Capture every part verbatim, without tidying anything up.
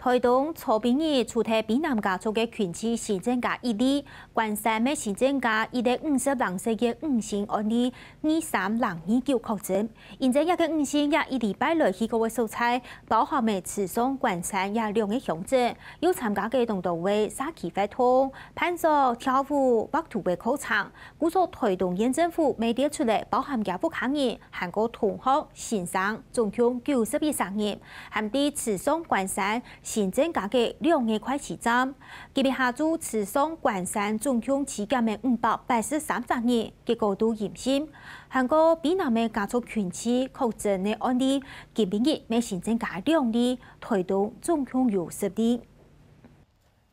臺東昨晡日除忒卑南家族个群聚新增加一例，關山乜新增加一例五十零歲个女性案例，二三零二九確診。因為這个女性也一禮拜來去過个所在，包含个池上、關山這兩个鄉鎮，又參加个當多个社區活動，伴手、跳舞、畫圖个課程。故所臺東縣政府乜列出來，包含厥屋下人，還過同學、先生，總共九十一儕人，還在池上、關山 新增加个兩个快篩站。今晡日下晝，池上、關山總共篩檢个五百八十三隻人，結果都陰性。還過卑南个家族群聚確診个案例，今晡日乜新增加兩例，臺東總共有十例。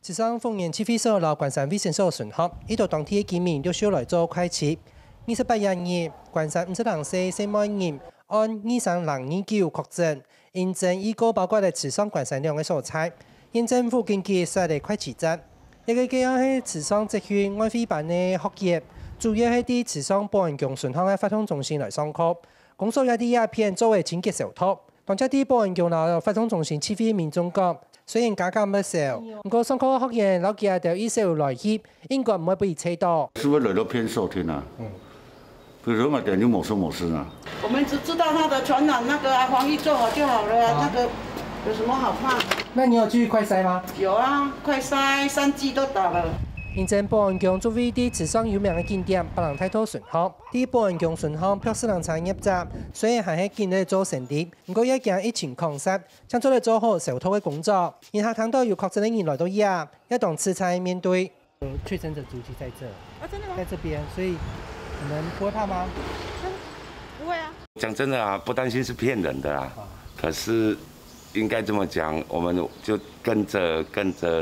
池上豐原區衛所摎關山衛生所巡邏，一到當地个居民陸續來做快篩。二十八日，關山五十零歲細妹人，案二三零二九確診， 因爭議過包括了池上、關山兩个所在，縣政府緊急設立快篩站。這个个案係池上職訓外匯班个學員，主要係在池上保安宮脣項个活動中心來上課。公所也在這片做个清潔消毒。當值在保安宮摎活動中心聚會个民眾講，雖然加減毋少，毋過上課个學員摎佢兜一齊來去，應該毋會分佢綴著。是不是來到騙所聽啊？嗯。 比如說嘛，等於某事某事啊。我們只知道它的傳染那個啊，防疫做好就好了啊，那個有什麼好怕？那你有去快篩嗎？有啊，快篩三劑都打了。因爭保安宮就位在池上有名个景點，北冷大道脣項。在保安宮脣項，標示冷餐業者，雖然還係緊在做生理，毋過也驚疫情擴散，正做得做好消毒个工作。因下聽到有確診个人來到這，也當自在面對。 呃，確診者足跡在這，啊，真的嗎？在這邊，所以你們不會怕嗎？不會啊。講真的啊，不擔心是騙人的啦。啊。可是應該這麼講，我們就跟著，跟著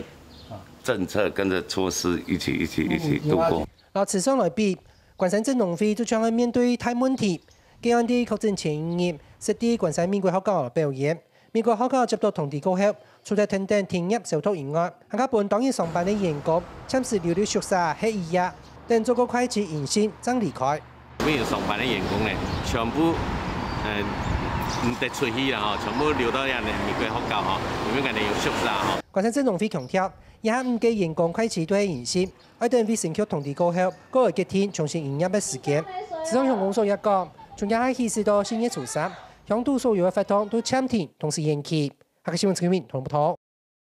啊。政策，跟著措施一起，一起，一起度過。嗯，有啊。摎池上來比，關山鎮農會就像愛面對大問題，該案例確診前一日，識在關山美國學校表演。 美國學校接到通知過後，除忒跈等停業消毒以外，還較分當日上班个員工暫時留在宿舍歇一夜，等做過快篩陰性正離開。每日上班个員工呢，全部，呃，毋得出去啦吼，全部留到這美國學校吼，因為𠊎等有宿舍吼。關山鎮農會強調，這下五個員工快篩都係陰性，愛等衛生局通知過後，過會決定重新營業个時間。池上鄉公所也講，從這下起始到四月初三，鄉肚所有个活動都暫停，同時延期。 下個新聞，陳啟明、唐文波。